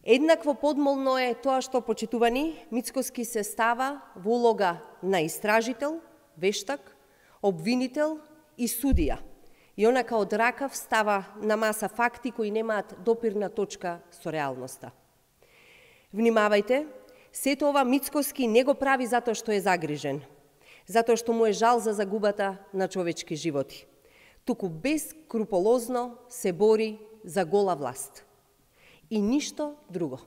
Еднакво подмолно е тоа што, почитувани, Мицкоски се става во улога на истражител, вештак, обвинител и судија. И онака од ракав става на маса факти кои немаат допирна точка со реалноста. Внимавајте, сето ова Мицкоски не го прави затоа што е загрижен, затоа што му е жал за загубата на човечки животи, туку бескруполозно се бори за гола власт. И ништо друго.